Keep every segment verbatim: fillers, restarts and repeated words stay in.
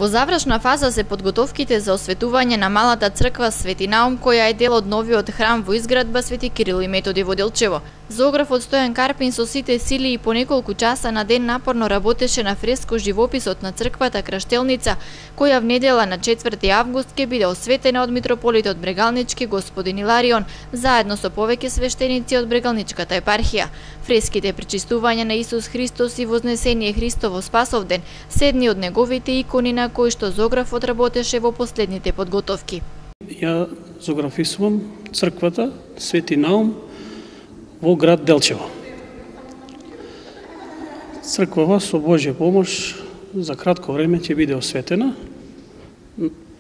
Во завршна фаза се подготовките за осветување на малата црква Свети Наум, која е дел од новиот храм во изградба Свети Кирил и Методи во Делчево. Зоографот Стојан Карпин со сите сили и по неколку часа на ден напорно работеше на фреско живописот на црквата Краштелница, која внедела на четврти август ќе биде осветена од митрополитот Брегалнички господин Иларион, заедно со повеќе свештеници од Брегалничката епархија. Фреските причистување на Исус Христос и Вознесение Христово Спасовден се едни од неговите икони на кои што зоографот работеше во последните подготовки. Ја зоографисувам црквата Свети Наум во град Делчево. Црквава со Божја помош за кратко време ќе биде осветена,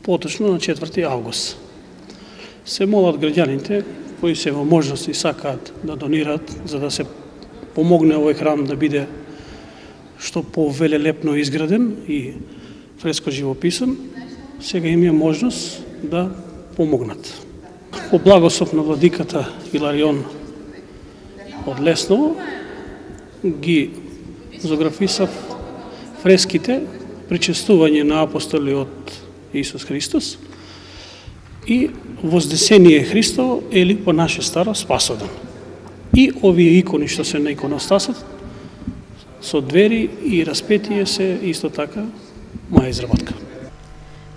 поточно на четврти август. Се молат граѓаните кои се во можност и сакаат да донираат за да се помогне овој храм да биде што повелелепно изграден и фреско живописан, сега има можност да помогнат. По благослов на владиката Иларион од Лесново ги зоографисав фреските причестување на апостоли од Исус Христос и Вознесение Христово или по наше старо Спасовден. И овие икони што се на иконостасот со двери и распетие се исто така моја изработка.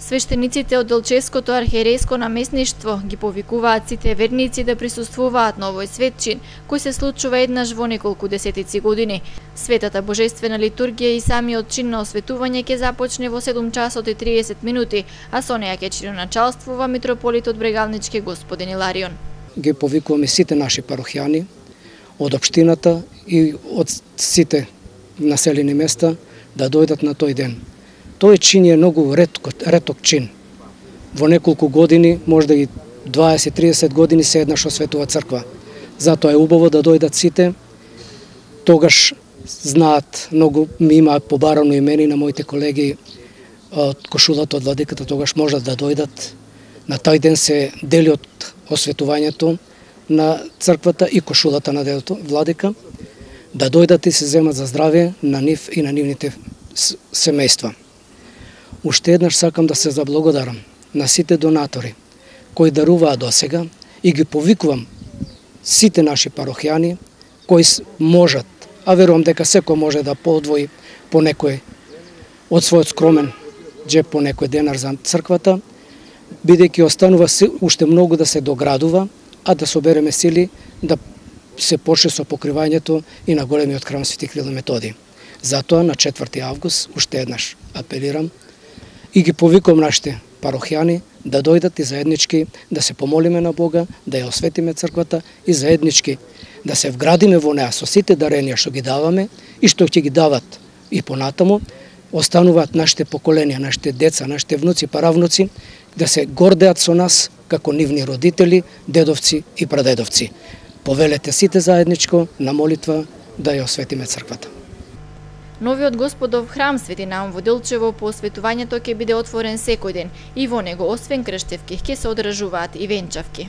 Свештениците од Делчевското архиерејско наместништво ги повикуваат сите верници да присуствуваат на овој свет чин, кој се случува еднаш во неколку десетици години. Светата божествена литургија и самиот чин на осветување ќе започне во седум часот и триесет минути, а со неја ќе чиноначалствува митрополитот Брегалнички господин Иларион. Ги повикуваме сите наши парохијани од општината и од сите населени места да дојдат на тој ден. Тој чин е многу реток, реток чин. Во неколку години, можда и дваесет до триесет години се еднаш осветува црква. Затоа е убаво да дојдат сите. Тогаш знаат, многу ми имаат побарано имени на моите колеги од кошулата од владиката, тогаш можат да дојдат. На тој ден се дели од осветувањето на црквата и кошулата на делото владика, да дојдат и се земат за здравје на нив и на нивните семејства. Уште еднаш сакам да се заблагодарам на сите донатори кои даруваат досега и ги повикувам сите наши парохијани кои можат, а верувам дека секој може да подвои по некој од својот скромен джеп по некој денар за црквата, бидејќи останува уште многу да се доградува, а да собереме сили да се почне со покривањето и на големиот храм Свети Кирил и Методи. Затоа на четврти август уште еднаш апелирам и ги повикувам нашите парохијани да дојдат и заеднички да се помолиме на Бога, да ја осветиме црквата и заеднички да се вградиме во неа со сите даренија што ги даваме и што ќе ги дават и понатаму, остануваат нашите поколенија, нашите деца, нашите внуци, паравнуци, да се гордеат со нас како нивни родители, дедовци и прадедовци. Повелете сите заедничко на молитва да ја осветиме црквата. Новиот Господов храм Свети Наум во Делчево по осветувањето ќе биде отворен секој ден и во него освен крштевки ќе се одржуваат и венчавки.